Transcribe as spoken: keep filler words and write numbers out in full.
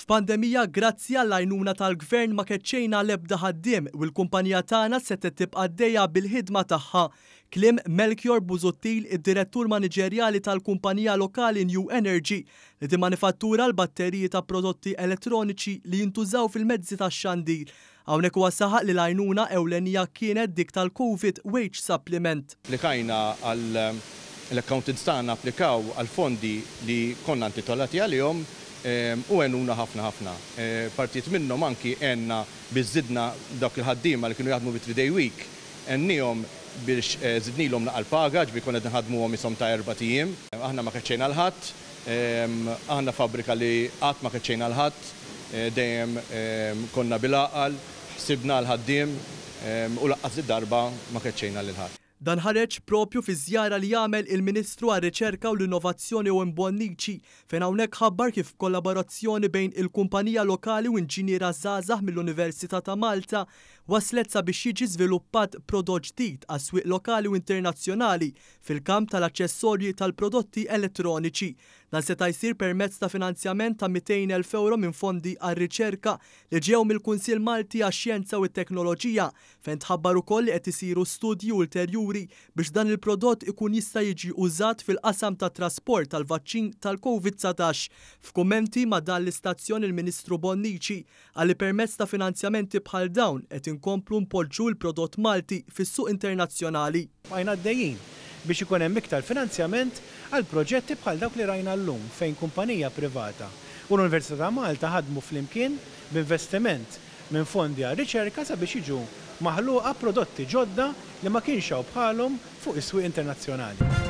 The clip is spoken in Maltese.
F'pandemija, grazzi għall-għajnuna tal-gvern, ma keċċejna l-ebda ħaddiem u l-kumpanija tagħna setgħet tibqa' għaddejja bil-ħidma tagħha. Kliem Melchior Busuttil, id-direttur maniġerjali tal-kumpanija lokali New Energy, li timmanifattura l-batteriji ta' prodotti elettroniċi li jintużaw fil-mezzi tax-xandir. Hawnhekk huwa saħaq li l-għajnuna ewlenija kienet dik tal-Covid Wage Supplement. Applikajna għal l-accountants tagħna, applikaw għal fondi li konna intitolati għalihom u għenuna ħafna ħafna. Partijiet minnhom anki għenna biex żidna dawk il-ħaddiema li kienu jaħdmu bi three day week, għennihom biex żidnilhom naqra l-paga, ġifieri konna qed nħaddmuhom ishom ta' erbat ijiem. Aħna ma keċċejna 'l ħadd, aħna fabbrika li qatt ma keċċejna 'l ħadd, dejjem konna bil-għaqal, ħsibna l-ħaddiem u lanqas darba ma keċċejna lil ħadd. Dan ħareġ propju fi żjara li jagħmel il-Ministru għar-Riċerka u l-Innovazzjoni Owen Bonnici, fejn hawnhekk ħabbar kif kollaborazzjoni bejn il-kumpanija lokali u inġiniera żgħażagħ mill-Università ta' Malta waslet sabiex jiġi żviluppat prodott ġdid għas-swieq lokali u internazzjonali fil-kamp tal-aċċessorji tal-prodotti elettroniċi. Dan seta' jsir permezz ta' finanzjament ta' mitejn elf euro minn fondi għar-riċerka li ġew mill-Kunsill Malti għax-Xjenza u t-Teknoloġija, fejn tħabbar ukoll li qed isiru studji ulterjuri biex dan il-prodott ikun jista' jiġi użat fil-qasam ta' trasport tal-vaċċin tal-Covid dsatax. F'kummenti ma' dan l-istazzjon, il-Ministru Bonnici qal li permezz ta' finanzjamenti bħal dawn qed inkomplu npoġġu l-prodott Malti fis-suq internazzjonali. Bqajna għaddejjin biex ikun hemm iktar finanzjament għal proġetti bħal dawk li rajna llum, fejn kumpanija privata u l-Università ta' Malta ħadmu flimkien b'investiment minn fondi għal riċerka sabiex jiġu maħluqa prodotti ġodda li ma kienx hawn bħalhom fuq is-swieq internazzjonali.